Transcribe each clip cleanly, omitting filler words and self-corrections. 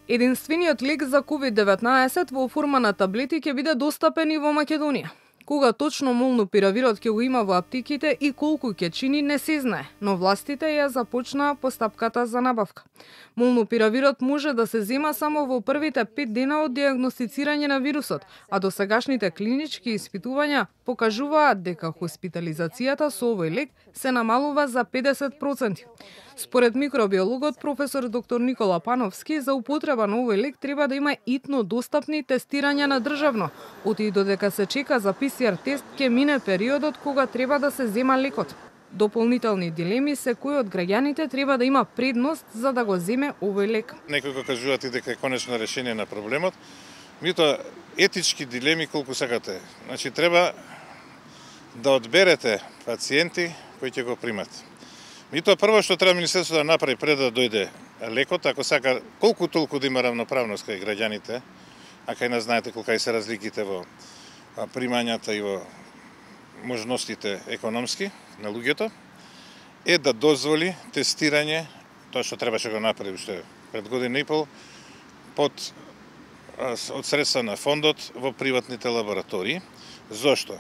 Единствениот лек за COVID-19 во форма на таблети ќе биде достапен и во Македонија. Кога точно молнупиравирот ќе го има во аптеките и колку ќе чини не се знае, но властите ја започнаа постапката за набавка. Молнупиравирот може да се зема само во првите 5 дена од диагностицирање на вирусот, а досегашните клинички испитувања покажуваат дека хоспитализацијата со овој лек се намалува за 50%. Според микробиологот професор доктор Никола Пановски, за употреба на овој лек треба да има итно достапни тестирања на државно, оти додека се чека за ПСР тест ќе мине периодот кога треба да се зема лекот. Дополнителни дилеми се кој од граѓаните треба да има предност за да го земе овој лек. Некои го кажуваат и дека е конечно решение на проблемот, меѓутоа етички дилеми колку сакате. Значи треба да одберете пациенти кои ќе го примат. Меѓутоа прво што треба министерството да направи пред да дојде лекот, ако сака колку толку да има равноправност кај граѓаните, а кај нас знаете колка се разликите во примањата и во можностите економски на луѓето, е да дозволи тестирање, тоа што требаше да го направи уште пред година и пол, од средства на фондот во приватните лаборатории. Зошто?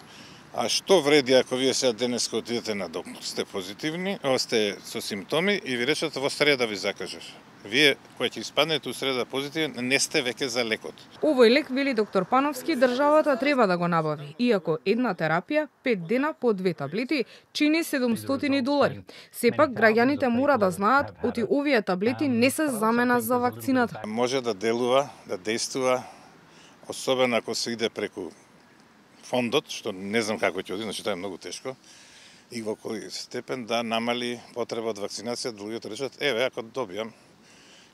А што вреди ако вие сега денеска отидете на доктор, сте позитивни, сте со симптоми и ви речат во среда ви закажеш. Вие кои ќе испаднете у среда позитивен, не сте веќе за лекот. Овој лек, вели доктор Пановски, државата треба да го набави, иако една терапија, 5 дена по 2 таблети, чини $700. Сепак, граѓаните мора да знаат, оти овие таблети не се замена за вакцината. Може да делува, да действува, особено ако се иде преку фондот, што не знам како ќе оди, значи тоа е многу тешко, и во кој степен да намали потреба од вакцинација, да луѓето речат, еве, ако добијам,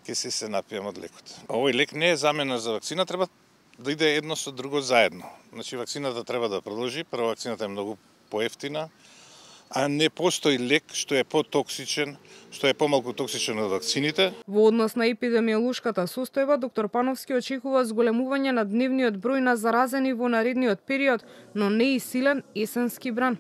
ќе се напијам од лекот. Овој лек не е замена за вакцина, треба да иде едно со друго заедно. Значи, вакцината треба да продолжи, прво вакцината е многу поевтина, а не постои лек што е потоксичен, што е помалку токсичен од вакцините. Во однос на епидемиолошката состојба, доктор Пановски очекува зголемување на дневниот број на заразени во наредниот период, но не и силен есенски бран.